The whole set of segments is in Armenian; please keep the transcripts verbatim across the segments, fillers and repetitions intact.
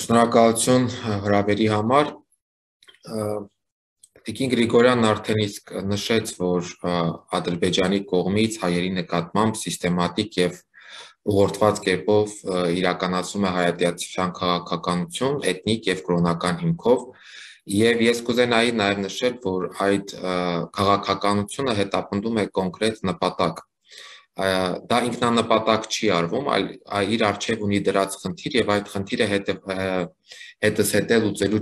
Շնորհակալություն հրավերի համար։ Տիկին Գրիգորյանն արդեն իսկ նշեց, որ Ադրբեջանի կողմից հայերի նկատմամբ սիստեմատիկ եւ ուղղորդված կերպով իրականացվում է հայատյացության քաղաքականություն, էթնիկ եւ կրոնական հիմքով, եւ ես կուզենայի նաեւ նշել, որ այդ քաղաքականությունը հետապնդում է կոնկրետ նպատակ։ Դա ինքնանպատակ չի արվում, այլ իր առջև ունի դրած խնդիր եւ այդ խնդիրը հետզհետե լուծելու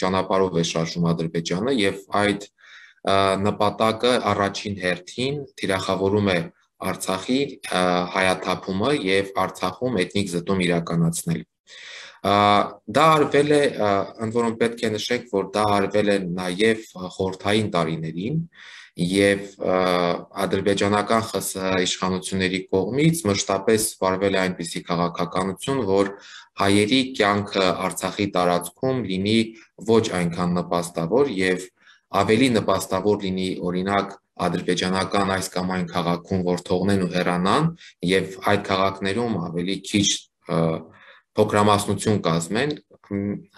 ճանապարհով է շարժում Ադրբեջանը եւ այդ նպատակը առաջին հերթին թիրախավորում է Արցախի հայաթափումը եւ Արցախում էթնիկ զտում իրականացնել։ Դա արվել է, ընդ որում պետք է նշենք, որ դա արվել է նաեւ խորհրդային տարիներին եւ ադրբեջանական ԽՍՀ իշխանությունների կողմից մշտապես վարվել է այնպիսի քաղաքականություն, որ հայերի կյանքը Արցախի տարածքում լինի ոչ այնքան նպաստավոր եւ ավելի նպաստավոր լինի օրինակ ադրբեջանական այս կամ այն քաղաքում, որ թողնեն ու հեռանան եւ այդ քաղաքներում ավելի քիչ փոքրամասնություն կազմեն,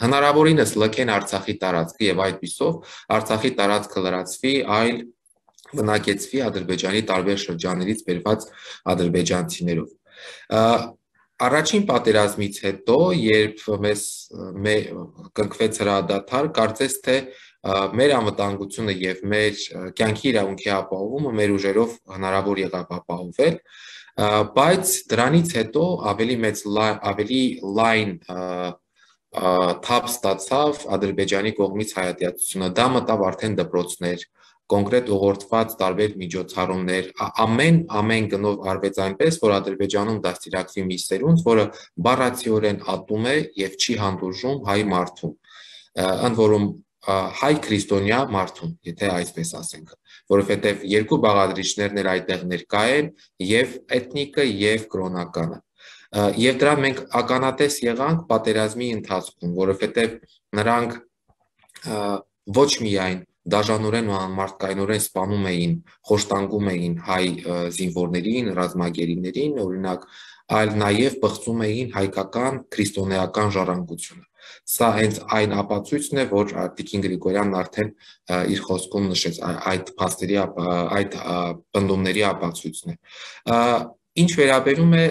հնարավորինս լքեն Արցախի տարածքը եւ այդպիսով Արցախի տարածքը լրացվի այլ բնակեցվի Ադրբեջանի տարբեր շրջաններից բերված ադրբեջանցիներով։ Առաջին պատերազմից հետո, երբ մեզ կնքվեց հրադադար, կարծես թե մեր անվտանգությունը եւ մեր կյանքի իրավունքի ապահովումը մեր ուժերով հնարավոր եղավ ապահովել, բայց դրանից հետո ավելի մեծ ավելի լայն թափ ստացավ Ադրբեջանի կողմից հայատյացությունը, դա մտավ արդեն դպրոցներ, կոնկրետ ուղղորդված տարբեր միջոցառումներ, ամեն ամեն գնով արվեց այնպես, որ Ադրբեջանում դաստիարակվի մի սերունդ, որը բառացիորեն ատում է եւ չի հանդուրժում հայ մարդուն, ընդ որում հայ քրիստոնյա մարդուն, եթե այսպես ասենք, որովհետեւ երկու բաղադրիչներն էլ այդտեղ ներկա են, եւ էթնիկը եւ կրոնականը։ Եվ դրան մենք ականատես եղանք պատերազմի ընթացքում, որովհետեւ նրանք ոչ միայն դաժանորեն ու անմարդկայնորեն սպանում էին, խոշտանգում էին հայ զինվորներին, ռազմագերիներին, օրինակ, այլ նաև բղծում էին հայկական քրիստոնեական ժառանգությունը։ Սա հենց այն ապացույցն է, որ Տիկին Գրիգորյանն արդեն իր խոսքում նշեց, այդ փաստերի, այդ պնդումների ապացույցն է։ Ինչ վերաբերում է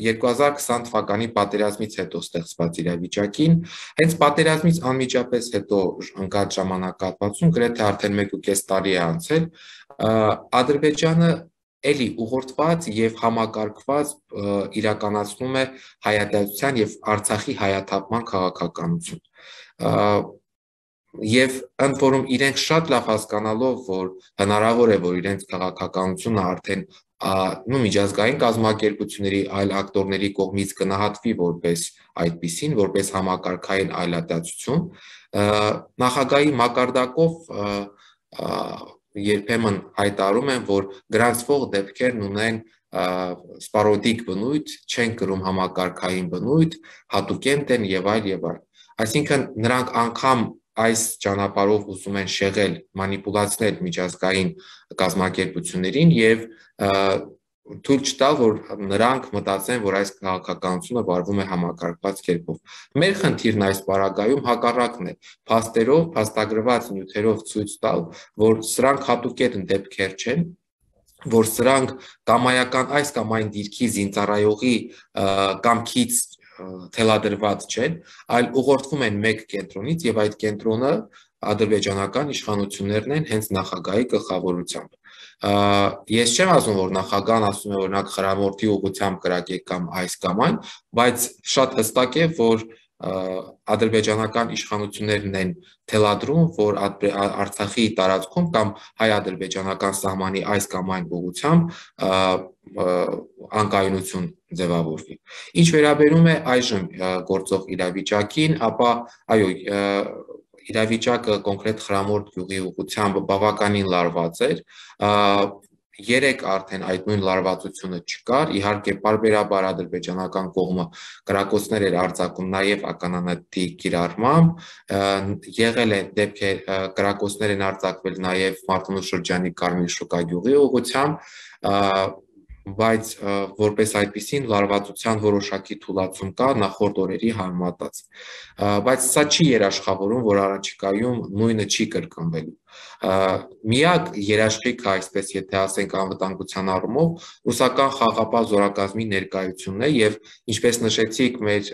երկու հազար քսան թվականի պատերազմից հետո ստեղծված իրավիճակին, հենց պատերազմից անմիջապես հետո ընկած ժամանակահատվածում, գրեթե արդեն մեկ ու կես տարի է անցել, Ադրբեջանը էլի ուղղորդված եւ համակարգված իրականացնում է հայատյացության եւ Արցախի հայաթափման քաղաքականություն։ Եվ ընդ որում իրենք շատ լավ հասկանալով, որ հնարավոր է, որ իրենց քաղաքականությունը արդեն նու միջազգային կազմակերպությունների այլ ակտորների կողմից գնահատվի որպես այդպիսին, որպես համակարգային այլատացություն, նախագահի մակարդակով երբեմն հայտարարում են, որ գրանցվող դեպքերն ունեն սպարոդիկ բնույթ, չեն կրում համակարգային բնույթ, հատուկենտ են եւ այլ եւ այլ։ Այսինքն նրանք անգամ այս ճանապարհով ուզում են շեղել, մանիպուլացնել միջազգային կազմակերպություններին եւ թույլ չտալ, որ նրանք մտածեն, որ այս քաղաքականությունը վարվում է համակարգված կերպով։ Մեր խնդիրն այս պարագայում հակառակն է, փաստերով, փաստագրված նյութերով ցույց տալ, որ սրանք հատուկենտ դեպքեր չեն, որ սրանք կամայական այս կամ այն դիրքի զինծառայողի կամքից թելադրված չեն, այլ ուղղորդվում են մեկ կենտրոնից եւ այդ կենտրոնը ադրբեջանական իշխանություններն են հենց նախագահի գլխավորությամբ։ Ես չեմ ասում, որ նախագահն ասում է օրինակ խրամորդի ուղղությամբ կրակեք կամ այս կամ այն, բայց շատ հստակ է, որ ադրբեջանական իշխանություններն են թելադրում, որ Արցախի տարածքում կամ հայ-ադրբեջանական սահմանի այս կամ այն ուղղությամբ անկայունություն ձևավորվի։ Ինչ վերաբերում է այժմ գործող իրավիճակին, ապա այո, իրավիճակը կոնկրետ Խրամորդ գյուղի ուղղությամբ բավականին լարված էր, երեք արդեն այդ նույն լարվածությունը չկար, իհարկե պարբերաբար ադրբեջանական կողմը կրակոցներ էր արձակում նաև ականանետի կիրառմամբ, եղել է դեպքեր, կրակոցներ են արձակվել նաև Մարտունու շրջանի Կարմիր շուկա գյուղի ուղղությամբ, բայց որպես այդպիսին լարվածության որոշակի թուլացում կա նախորդ օրերի համեմատած։ Բայց սա չի երաշխավորում, որ առաջիկայում նույնը չի կրկնվելու։ Միակ երաշխիքը, այսպես եթե ասենք անվտանգության առումով, ռուսական խաղաղապահ զորակազմի ներկայությունն է եւ ինչպես նշեցիք, մեր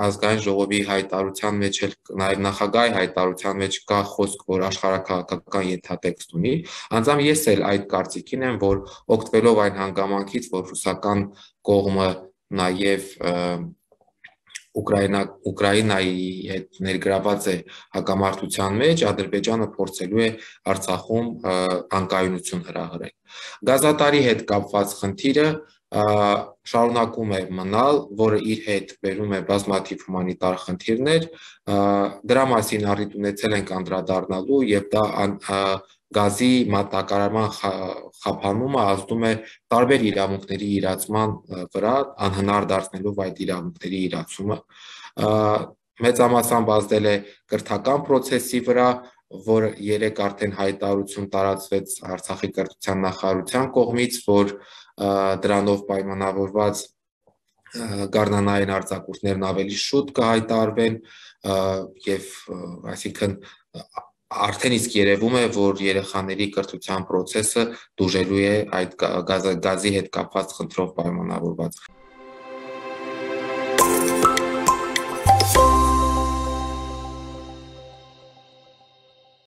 ազգային ժողովի հայտարարության մեջ էլ նաեւ նախագահի հայտարարության մեջ կա խոսք, որ աշխարհաքաղաքական ենթատեքստ ունի, անձամբ ես էլ այդ կարծիքին եմ, որ օգտվելով այն հանգամանքից, որ ռուսական կողմը նաեւ Ուկրաինա Ուկրաինայի հետ ներգրաված է հակամարտության մեջ, Ադրբեջանը փորձելու է Արցախում անկայունություն հրահրել։ Գազատարի հետ կապված խնդիրը շարունակում է մնալ, որը իր հետ բերում է բազմաթիվ հումանիտար խնդիրներ, դրա մասին առիթ ունեցել ենք անդրադառնալու եւ դա գազի մատակարարման խափանումը ազդում է տարբեր իրավունքների իրացման վրա, անհնար դարձնելով այդ իրավունքների իրացումը, մեծամասամբ ազդել է կրթական process-ի վրա, որ երեք արդեն հայտարարություն տարածվեց Արցախի կրթության նախարարության կողմից, որ դրանով պայմանավորված գարնանային արձակուրդներն ավելի շուտ կհայտարարվեն եւ այսինքն արդեն իսկ երևում է, որ երեխաների կրթության process-ը դուժելու է այդ գազի հետ կապված խնդրով պայմանավորված։